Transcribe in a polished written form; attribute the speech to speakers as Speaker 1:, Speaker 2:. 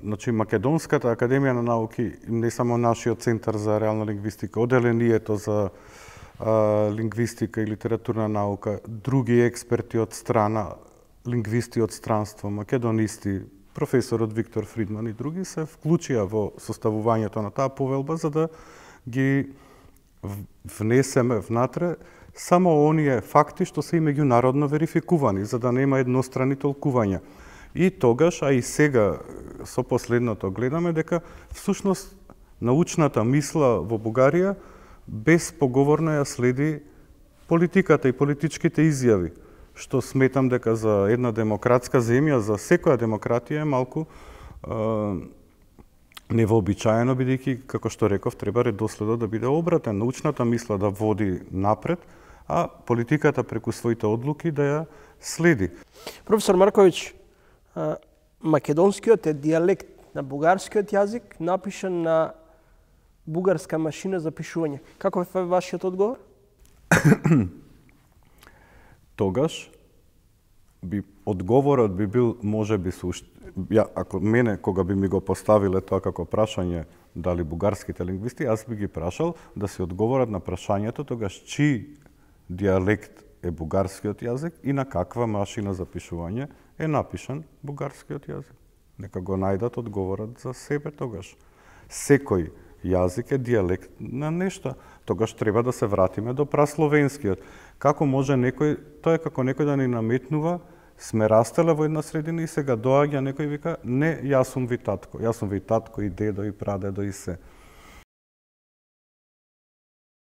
Speaker 1: Значи, Македонската академија на науки, не само нашиот центар за реална лингвистика, оделението за лингвистика и литературна наука, други експерти од страна, лингвисти од странство, македонисти, професорот Виктор Фридман и други се вклучија во составувањето на таа повелба за да ги внесеме внатре само оние факти што се и меѓународно верификувани, за да нема еднострани толкувања. И тогаш, а и сега со последното гледаме дека всушност научната мисла во Бугарија безпоговорно ја следи политиката и политичките изјави, што сметам дека за една демократска земја, за секоја демократија е малку невообичаено, бидејќи, како што реков, треба редоследот да биде обратен, научната мисла да води напред, а политиката преку своите одлуки да ја следи.
Speaker 2: Професор Марковиќ, македонскиот е дијалект на бугарскиот јазик, напишан на бугарска машина за пишување. Каков е вашиот одговор?
Speaker 1: Тогаш одговорот би бил можеби ако мене кога би ми го поставиле тоа како прашање дали бугарските лингвисти, јас би ги прашал да се одговорат на прашањето тогаш чии дијалект е бугарскиот јазик и на каква машина за пишување е напишан бугарскиот јазик. Нека го најдат одговорот за себе тогаш. Секој јазик е дијалект на нешто. Тогаш треба да се вратиме до прасловенскиот. Како може некој, тоа е како некој да ни наметнува, сме растеле во една средина и сега доаѓа некој и вика, не, јас сум ви татко и дедо и прадедо и се.